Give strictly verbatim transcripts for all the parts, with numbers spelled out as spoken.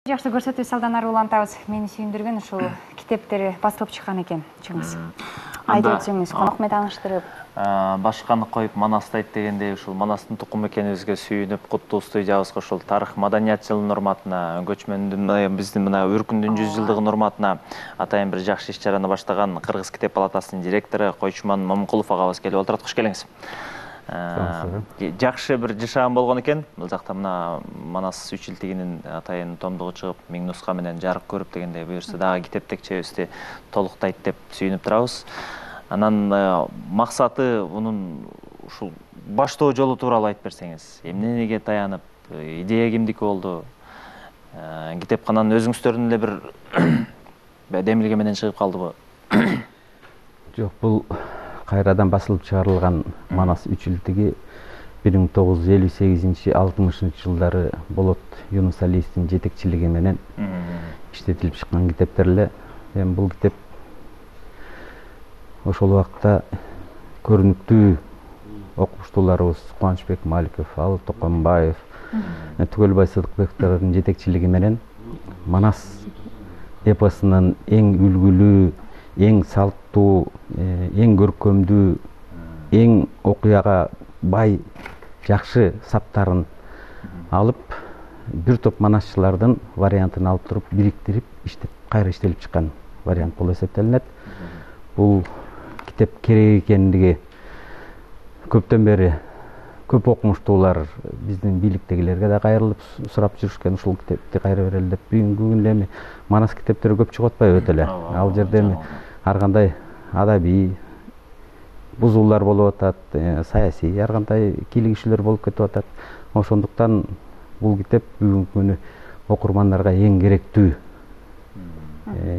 Жакшы көрсөтүү салдан ары улантабыз. Мени сүйүндүргөн ушул китептери басылып чыккан экен, чыңыз. Айтып өтсөңүз, конок менен тааныштырып. Башканы коюп Манасты айт дегендей, ушул Манастын тукуму экенибизге сүйүнүп, куттуу студиябызга ушул тарых маданият жылынын урматына, көчмөндүн биздин мына Үркүндүн жүз жылдыгынын урматына атайын бир жакшы иш чараны баштаган Кыргыз китеп палатасынын директору Койчуман Момункулов агабыз келип отурат. Куш келиңиз. Жакшы бир жашаан болгон экен. Бул жакта мына Манас үч жылдыгынын атайын томдугу чыгып, миң нуска менен жарык көрүп дегендей, буюрса дагы китеп текчебизди толуктайт деп сүйүнүп турабыз. Анан максаты мунун ушул баштоо жолу тууралуу айтып берсеңиз, эмнеге таянып, идея кимдики болду? Китепкананын өзүңүздөрдүн эле бир демилге менен чыгып калдыбы? Жок, бул кайрадан басылып чыгарылган Манас үч жылдыгы бир миң тогуз жүз элүү сегизинчи алтымышынчы жылдары Болот Юнус Алиевдин жетекчилиги менен иштетилип чыккан китептер эле. Эми бул китеп ошол убакта көрүнүктүү окумуштууларыбыз Кубанычбек Маликов, Алып Токонбаев, Түгөлбай Сыдыкбековдордун жетекчилиги менен Манас эпосунун эң үлгүлүү, эң салттуу, эң көркөмдүү, эң окуяга бай, жакшы саптарын алып, бир топ манасчылардын вариантын алып туруп, бириктирип, иштеп, кайра иштелип чыккан вариант болуп эсептелинет. Бул китеп керек экендиги көптөн бери көп окумуштуулар биздин бийликтегилерге да кайрылып сурап жүрүшкөн, ушул китепти кайра берели деп. Бүгүнкү күндө эми Манас китептери көп чыгып атпайбы өтө эле. Ал жерде эми ар кандай адабий бузуулар болуп атат, саясий ар кандай кийлигишүүлөр болуп кетип атат. Ошондуктан бул китеп бүгүнкү күнү окурмандарга эң керектүү,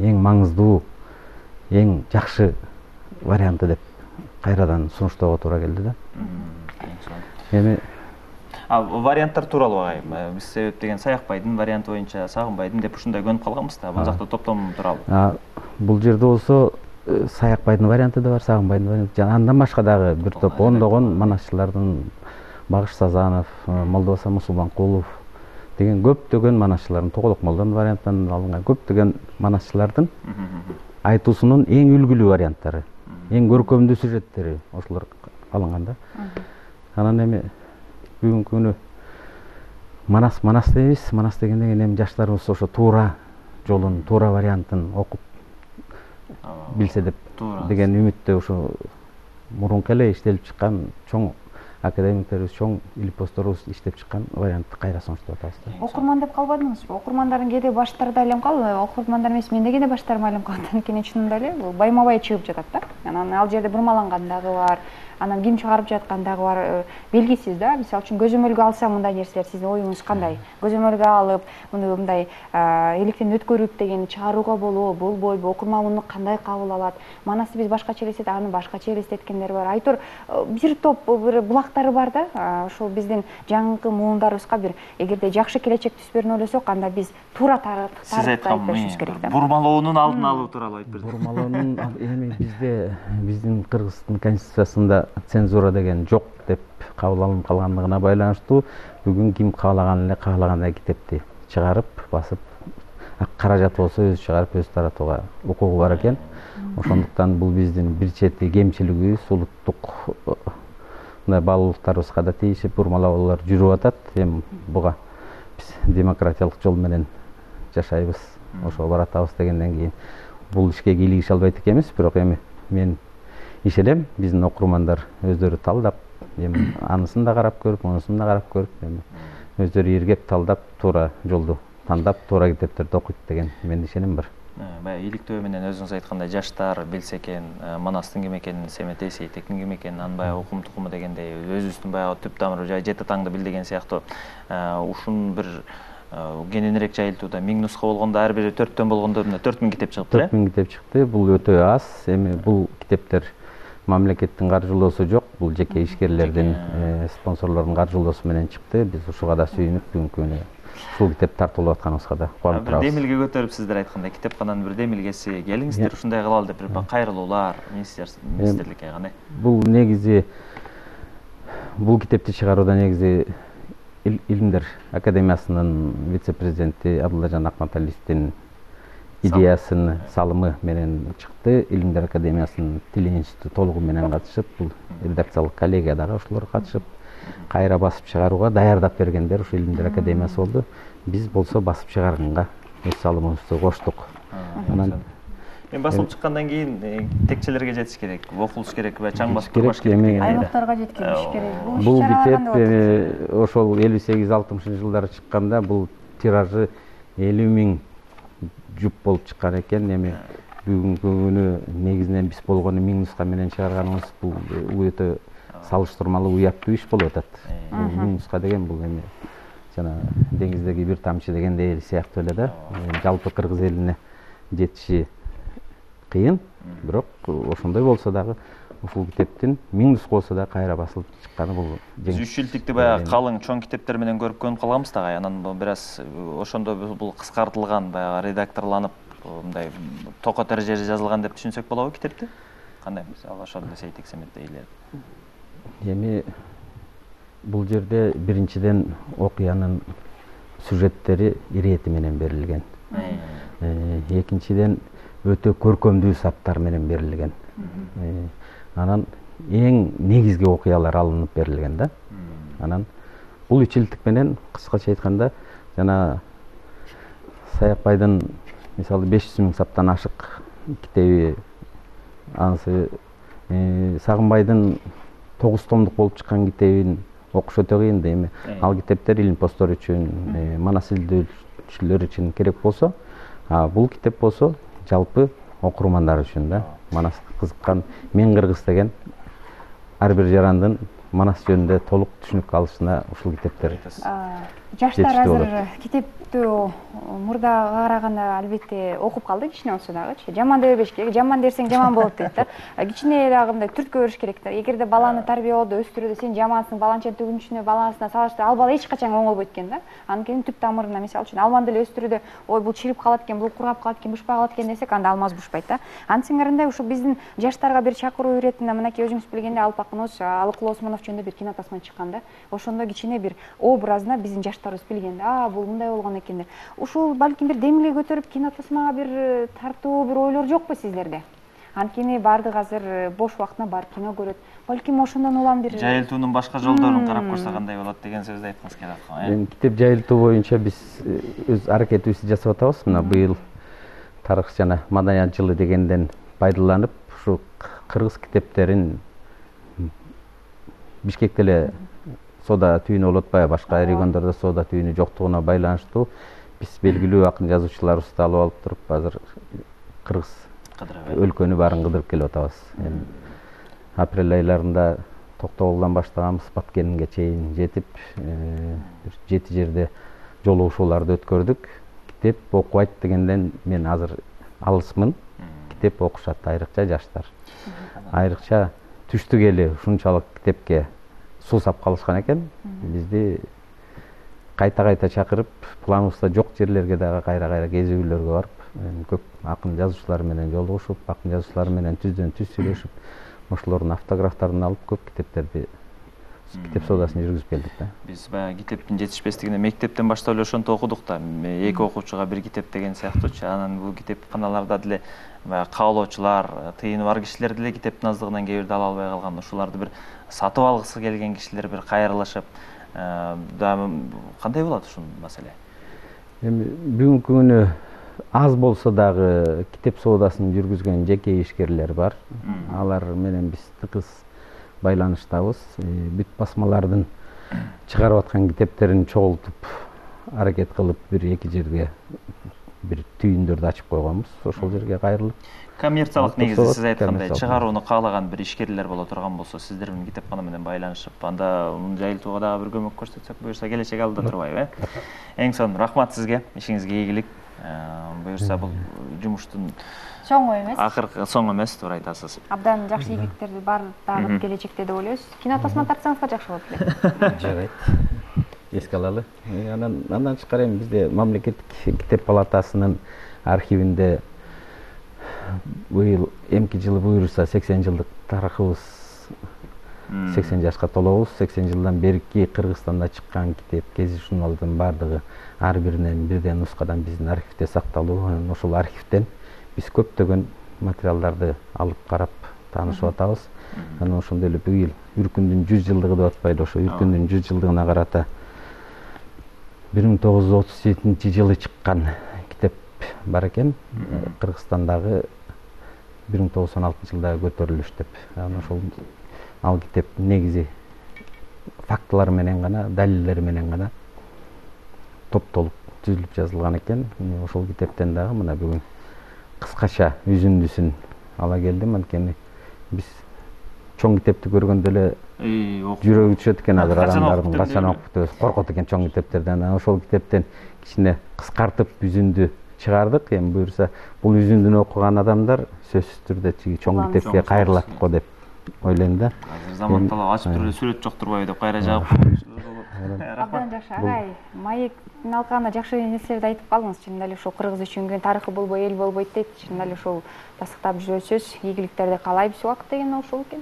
эң маңыздуу, эң жакшы варианты деп кайрадан сунуштоого туура келди да. Эми варианттар тууралуу агайым. Биз себеп деген Саякбайдын варианты боюнча Сагынбайдын деп ушундай көнүп калганбыз да. Бул жакта топтом тууралуу. Бул жерде болсо Саякбайдын варианты да бар, Сагынбайдын варианты. Андан башка дагы бир топ ондогон манасчылардын, Багыш Сазанов, Молдобасан Мусулманкулов деген көптөгөн манасчылардын, Тоголок Молдонун вариантынан алынган көптөгөн манасчылардын айтуусунун эң үлгүлүү варианттары, эң көркөмдүү сюжеттери ошолор алынган да. Анан эми бүгүнкү күнү Манас Манас дейбиз. Манас дегенден кийин эми жаштарыбыз ошо туура жолун, туура вариантын окуп билсе деп деген үмүттө ошо мурунку эле иштелип чыккан чоң академиктерибиз, чоң илипосторубуз иштеп чыккан вариантты кайра сунуштап атабыз да. Окурман деп калбадыңызбы? Окурмандардын кээде баштарда элем кал, окурмандар эмес, менде кээде баштарым айылым калат. Анткени чынында эле бул байма-бай чыгып жатат да. Анан ал жерде бурмаланган дагы бар. Анан ким чыгарып жаткан дагы бар, белгисиз да. Мисалы үчүн көзөмөлгө алса мындай нерселер, сиздин оюңуз кандай? Көзөмөлгө алып, муну мындай электен өткөрүп деген чыгарууга болобу, болбойбу, окурман муну кандай кабыл алат? Манасты биз башкача элестет, аны башкача элестеткендер бар. Айтор бир топ бир булактары бар да. Ошол биздин жаңыркы муундарыбызга бир эгерде жакшы келечек түз берүүнү ойлосок, анда биз туура тарыхты айтып беришибиз керек да. Бурмалоонун алдын алуу тууралуу айтып бердиңиз. Бурмалоонун эми бизде биздин Кыргыздын конституциясында цензура деген жок деп кабыл алынып калгандыгына байланыштуу бүгүн ким каалаган эле каалагандай китепти чыгарып, басып, каражат болсо өзү чыгарып, өзү таратууга укугу бар экен. Ошондуктан бул биздин бир чети кемчилигибиз, улуттук мындай баалуулуктарыбызга да тийишип бурмалоолор жүрүп атат. Эми буга биз демократиялык жол менен жашайбыз, ошого баратабыз дегенден кийин бул ишке кийлигише албайт экенбиз. Бирок эми мен ишенем, биздин окурмандар өздөрү талдап, эми анысын да карап көрүп, мунусун да карап көрүп, эми өздөрү иргеп талдап, туура жолду тандап, туура китептерди окуйт деген менин ишеним бар. Баягы иликтөө менен өзүңүз айткандай жаштар билсе экен, Манастын ким экенин, Семетей Сейтектин ким экенин, анын баягы укум тукуму дегендей, өзүбүздүн баягы түп тамыры жай жети таңды бил деген сыяктуу ушун бир кененирээк жайылтууда миң нуска болгондо, ар бири төрттөн болгондо мына төрт миң китеп чыгыптыр э? төрт миң китеп чыкты. Бул өтө аз. Эми бул китептер мамлекеттин каржылоосу жок, бул жеке ишкерлердин, спонсорлордун каржылоосу менен чыкты. Биз ушуга да сүйүнүп, бүгүнкү күнү ушул китеп тартылып атканыбызга да кубанып турабыз. Демилге көтөрүп сиздер айткандай, китепкананын бир демилгеси, келиңиздер ушундай кылалы деп бир кайрылуулар министрликке кандай? Бул негизи бул китепти чыгарууда негизи илимдер академиясынын вице-президенти Абдуллажан Акматалиевдин идеясынын салымы менен чыкты. Илимдер академиясынын тил институту толугу менен катышып, бул редакциялык коллегиядагы ошолор катышып, кайра басып чыгарууга даярдап бергендер ушу Илимдер академиясы болду. Биз болсо басып чыгарганга өз салымыбызды коштук. Анан Мен басылып чыккандан кийин текчелерге жетиш керек, окулуш керек ва чаң басып турбаш керек. Аймактарга жеткириш керек. Бул китеп ошол элүү сегиз алтымышынчы жылдары чыкканда бул тиражы элүү миң жуп болуп чыккан экен. Эми бүгүнкү күнү негизинен биз болгону миң нуска менен чыгарганыбыз бул өтө салыштырмалуу уяттуу иш болуп атат. Миң нуска деген бул эми жана деңиздеги бир тамчы дегендей сыяктуу эле да. Жалпы кыргыз элине жетиши кыйын, бирок ошондой болсо дагы ушул китептин миң нуска болсо да кайра басылып чыкканы бул биз үч жылдыкты баягы калың чоң китептер менен көрүп көнүп калганбыз да, анан бир аз ошондо бул кыскартылган, баягы редакторланып, мындай токот эрежеде жазылган деп түшүнсөк болобу китепти? Кандай мисалы ошол эле Сейит Эксеметтей эле. Эми бул жерде биринчиден окуянын сюжеттери ирети менен берилген. Экинчиден өтө көркөмдүү саптар менен берилген. Анан эң негизги окуялар алынып берилген да. Анан бул үч жылдык менен кыскача айтканда жана Саякбайдын мисалы беш жүз миң саптан ашык китеби, анысы Сагынбайдын тогуз томдук болуп чыккан китебин окуш өтө кыйын да. Эми ал китептер илим посттор үчүн, манас изилдөөчүлөр үчүн керек болсо, бул китеп болсо жалпы окурмандар үчүн да. Манаска кызыккан Мен Кыргыз деген ар бир жарандын манас жөнүндө толук түшүнүк алышына ушул китептер. Жаштар азыр китепти мурда караганда албетте окуп калды кичине болсо дагычы. Жаман дей бербеш керек. Жаман дерсең жаман болот дейт да. Кичине дагы мындай түрткө бериш керек да. Эгерде баланы тарбиялоодо өстүрүүдө сен жамансың, баланча түгүнчүнө баласына салыштырып, ал бала эч качан оңолбойт экен да. Анткени түп тамырына мисалы үчүн алманы деле өстүрүүдө, ой бул чирип калат экен, бул кургап калат экен, бушпай калат экен десек, анда алмаз бушпайт да. Антсиңеринде ушу биздин жаштарга бир чакыруу иретинде мынакей өзүңүз билгендей Алпакынов, Алыкул Осмонов жөнүндө бир кино тасма чыккан да. Ошондо кичине бир образына биздин жаштарыбыз билген да. А, бул мындай болгон экен деп. Ушул балким бир демилге көтөрүп кино тасмага бир тартуу бир ойлор жокпу сиздерде? Анткени баардык азыр бош убактына барып кино көрөт. Балким ошондон улам бир жайылтуунун башка жолдорун карап көрсө кандай болот деген сөздү айткыңыз келет го, э? Эми китеп жайылтуу боюнча биз өз аракетибизди жасап атабыз. Мына быйыл тарых жана маданият жылы дегенден пайдаланып, ушу кыргыз китептерин Бишкекте эле соода түйүнү болуп атпайбы, башка региондордо соода түйүнү жоктугуна байланыштуу биз белгилүү акын жазуучуларыбызды алып алып туруп азыр кыргыз өлкөнү баарын кыдырып келип атабыз. Эми апрель айларында Токтогулдан баштаганбыз, Баткенинге чейин жетип, бир жети жерде жолугушууларды өткөрдүк. Китеп окубайт дегенден мен азыр алысмын. Китеп окушат, айрыкча жаштар. Айрыкча түштүк эли ушунчалык китепке суусап калышкан экен. Бизди кайта-кайта чакырып, планыбызда жок жерлерге дагы кайра-кайра кезүүлөргө барып, көп акын жазуучулар менен жолугушуп, акын жазуучулар менен түздөн түз сүйлөшүп, ошолордун автографтарын алып көп китептерди, китеп соодасын жүргүзүп келдик да. Биз баягы китептин жетишпестигине мектептен баштап эле ошентип окудук да. Эки окуучуга бир китеп деген сыяктуучу. Анан бул китепканаларда деле баягы каалоочулар, тыйыны бар кишилер деле китептин аздыгынан кээ бирде ала албай калган. Ошоларды бир сатып алгысы келген кишилер бир кайрылышып, кандай болот ушул маселе? Эми бүгүнкү күнү аз болсо дагы китеп соодасын жүргүзгөн жеке ишкерлер бар. Алар менен биз тыгыз байланыштабыз. Бүт басмалардын чыгарып аткан китептерин чогултуп, аракет кылып бир эки жерге бир түйүндөрдү ачып койгонбуз. Ошол жерге кайрылып, коммерциялык негизде сиз айткандай чыгарууну каалаган бир ишкерлер боло турган болсо, сиздер менен китепкана менен байланышып, анда муну жайылтууга дагы бир көмөк көрсөтсөк, буюрса келечек алдыда турбайбы, э? Эң сонун рахмат сизге, ишиңизге ийгилик. Буюрса бул жумуштун соңу эмес. Акыркы соңу эмес, туура айтасыз. Абдан жакшы ийгиликтерди бар дагы келечекте деп ойлойбуз. Кино тасма тартсаңыздар жакшы болот эле. Жарайт. Эске алалы. Анан андан тышкары эми бизде мамлекеттик китеп палатасынын архивинде быйыл эмки жылы буюрса сексен жылдык тарыхыбыз сексен жашка толобуз. сексен жылдан берки Кыргызстанда чыккан китеп, гезит журналдын баардыгы ар биринен бирден нускадан биздин архивде сакталуу. Ошол архивден биз көптөгөн материалдарды алып карап таанышып атабыз. Анан ошондой эле быйыл Үркүндүн жүз жылдыгы деп атпайлы, ошо Үркүндүн жүз жылдыгына карата бир миң тогуз жүз отуз жетинчи жылы чыккан китеп бар экен. Кыргызстандагы бир миң тогуз жүз он алтынчы жылдагы көтөрүлүш деп. Анан ошол ал китеп негизи фактылар менен гана, далилдер менен гана топтолуп түзүлүп жазылган экен. Ошол китептен дагы мына бүгүн кыскача үзүндүсүн ала келдим. Анткени биз чоң китепти көргөндө эле жүрөгү түшөт экен азыр адамдардын, качан окуп деп коркот экен чоң китептерден. Ошол китептен кичине кыскартып үзүндү чыгардык. Эми буюрса бул үзүндүнү окуган адамдар сөзсүз түрдө чиги чоң китепке кайрылат го деп ойлойм да. Азыр заман талап ачып туруп эле сүрөт жок турбайбы деп кайра жагып. Абдан жакшы агай. Маектин алкагында жакшы нерселерди айтып калдыңыз. Чынында эле ушул кыргыз үчүн күн тарыхы болбой эл болбойт дейт. Чынында эле ушул тастыктап жүрөсүз. Ийгиликтерди каалайбыз убакыт деген ушул экен.